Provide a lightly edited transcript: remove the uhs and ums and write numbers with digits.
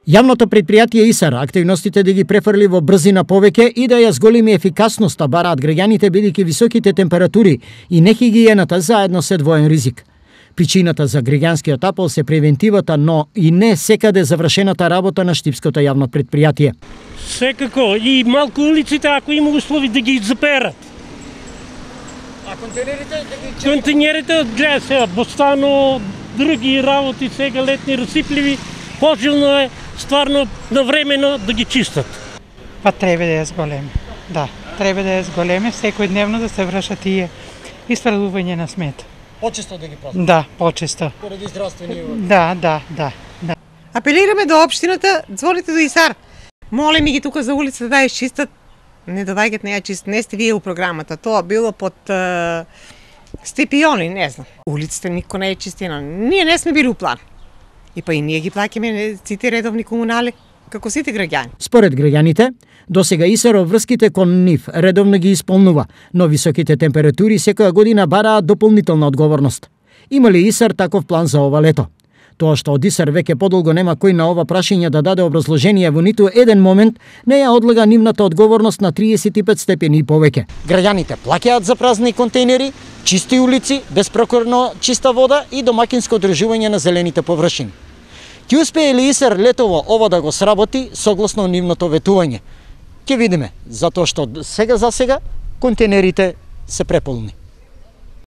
Јавното предпријатие ИСАР активностите да ги префрли во брзина повеќе и да ја зголеми ефикасноста бараат граѓаните бидејќи високите температури и нехигиената заедно се двоен ризик. Причината за граѓанскиот апел се превентивата, но и не секаде завршената работа на штипското јавно предпријатие. Секако и малку улиците ако има услови да ги заперат. А контейнерите да ги Контейнерите гледа сега Бостано, други работи сега летни расипливи, пожилно е стварно навремено да ги чистат. Па треба да ја зголеме. Да, треба да ја зголеме, секојдневно да се вршат тие исправување на смет. почесто да ги пазат. Да, почесто. Поради здравствени. Да. Апелираме до општината, звоните до ИСАР. Молиме ги тука за улицата да ја чистат. Не доваѓат не ја чистат. Не сте вие у програмата. Тоа било под степиони, не знам. Улицата никој не е чистена. Ние не сме били у план. И па и ние ги плаќаме сите редовни комунали, како сите граѓани. Според граѓаните, досега ИСАР врските кон нив редовно ги исполнува, но високите температури секоја година бараат дополнителна одговорност. Има ли ИСАР таков план за ова лето? Тоа што од ИСАР веќе подолго нема кој на ова прашање да даде образложение во ниту еден момент, не ја одлага нивната одговорност на 35 степени и повеќе. Граѓаните плаќаат за празни контейнери, чисти улици, безпрокорно чиста вода и домакинско одржување на зелените површини. Ќе успее ли ИСАР летово ова да го сработи согласно нивното ветување? Ќе видиме, затоа што сега за сега контейнерите се преполни.